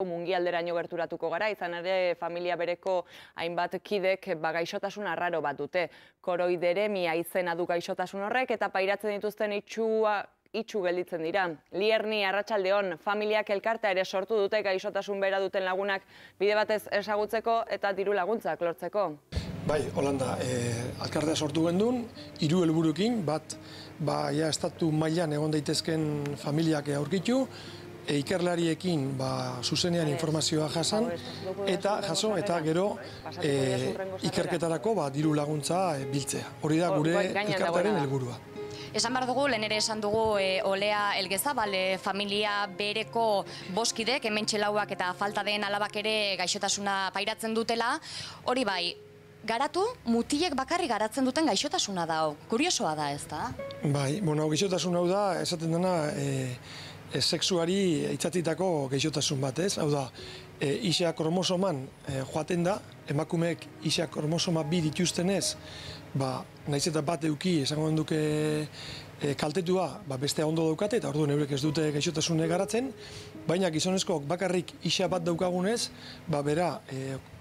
mungialderaino gerturatuko gara, izan ere familia bereko hainbat kidek gaixotasun arraro bat dute. Koroideremia izena du gaixotasun horrek eta pairatzen dituzten itxu gelditzen dira. Lierni, arratsaldeon, familiak elkartea ere sortu dute gaixotasun bera duten lagunak bide batez ezagutzeko eta diru laguntzak lortzeko. Bai, Holanda, alkartea sortu gendun, 3 helburuekin, bat, estatu mailan egon daitezken familiak aurkitu, ikerlariekin zuzenean informazioa jaso eta gero ikerketarako diru laguntza biltzea. Hori da gure elkartearen helburua. Esan behar dugu, lehen ere esan dugu Olea Elgezabal familia bereko boskidek, hementxe lauak eta falta den alabak ere gaixotasuna pairatzen dutela. Hori bai, garatu, mutilek bakarrik garatzen duten gaixotasuna da. Kuriosoa da, ez da? Bai, gaixotasun hau da, esaten dena, sexuari itzatitako gaixotasun bat, ez? Hau da, isa kromosoman joaten da, emakumeek isa kromosoma 2 dituztenez, nahiz eta bat eduki, esango duke kaltetua, bestea ondo daukate, eta orduan eurek ez dute gaixotasune garatzen, baina gizonezkoak bakarrik isa bat daukagunez, bera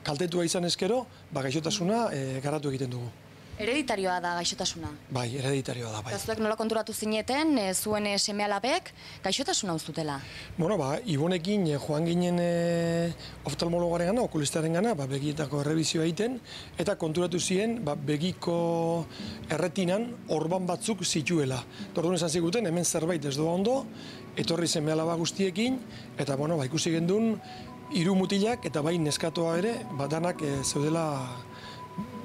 kaltetua izan ezkero, gaixotasuna garatu egiten dugu. Hereditarioa da gaixotasuna? Bai, hereditarioa da, bai. Eta zuek nola konturatu zineten, zuen seme-alabek gaixotasuna uztutela? Ibonekin joan ginen oftalmologaren gana, okulistaren gana, begietako errebizioa egiten, eta konturatu ziren begiko erretinan orban batzuk zituela. Orduan esan ziguten, hemen zerbait ez doa ondo, etorri seme-alaba guztiekin, eta ikusi gendun 3 mutilak eta bai neskatoa ere, danak zeudela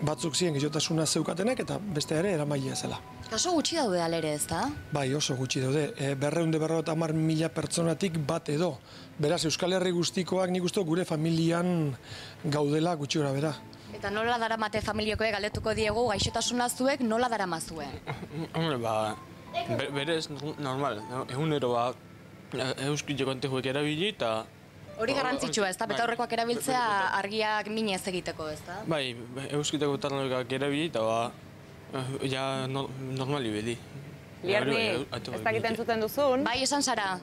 batzuk ziren gaixotasuna zeukatenak eta beste ere eramailea zela. Oso gutxi daude alere, ez da? Bai, oso gutxi daude. 250.000 pertsonatik bat edo. Beraz, Euskal Herri guztikoak nik uste gure familian gaudela gutxi gora bera. Eta nola daramate familiakoek galdetuko diegu gaixotasuna zuek nola daramazue? Berez, normal. Egunero euskiteko antejuek erabili eta hori garrantzitsua, ez da? Betaurrekoak erabiltzea argiak minez egiteko, ez da? Bai, euskiteko tarnoekak erabili eta normali bedi. Lierni, ez dakiten zuten duzun. Bai, esan zara.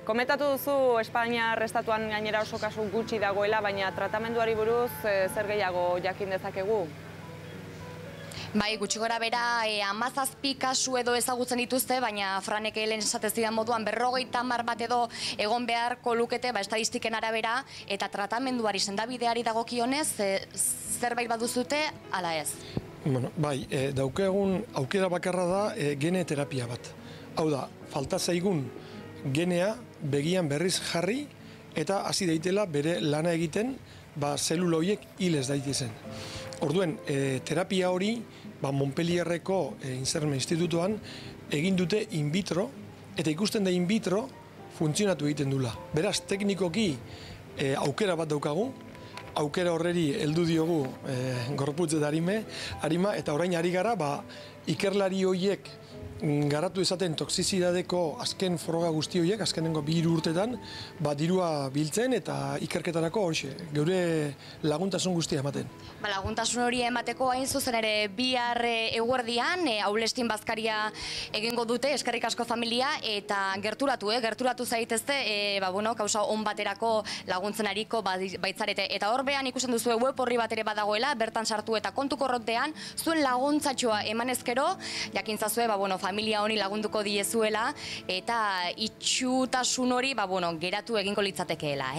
Komentatu duzu Espainiar estatuan gainera oso kasu gutxi dagoela, baina tratamenduari buruz zer gehiago jakin dezakegu? Bai, gutxi gora bera 17 kasu edo ezagutzen dituzte, baina Franek lehen esatezidan moduan 50 bat edo egon beharko lukete estadistiken arabera, eta tratamenduari sendabideari dagokionez zerbait baduzute, ala ez? Bai, daukagun aukera bakarra da gene terapia bat. Hau da, falta zaigun genea begian berriz jarri eta hasi daitela bere lana egiten zelula horiek hil ez daitezen. Orduen, terapia hori Montpellierreko Insermen Institutuan egin dute in vitro, eta ikusten da in vitro funtzionatu egiten dula. Beraz, teknikoki aukera bat daukagu, aukera horreri heldu diogu gorputz eta arima, eta orain ari gara, ikerlari horiek garatu ezaten toxizidadeko azken froga guzti horiek, azkenengo 2 urtetan, dirua biltzen eta ikerketarako geure laguntasun guztia ematen. Laguntasun hori emateko hain zuzen ere bihar eguerdian, Aulestin bazkaria egingo dute, eskerrik asko familia, eta gerturatu zaitezte, kausa on baterako laguntzen ariko baitzarete. Eta horbean ikusten duzu web horri bat ere badagoela, bertan sartu eta kontu korrontean, zuen laguntzatxoa emanezkero, jakintzazue, familia honi lagunduko diezuela, eta itxutasun hori geratu egingo litzatekeela,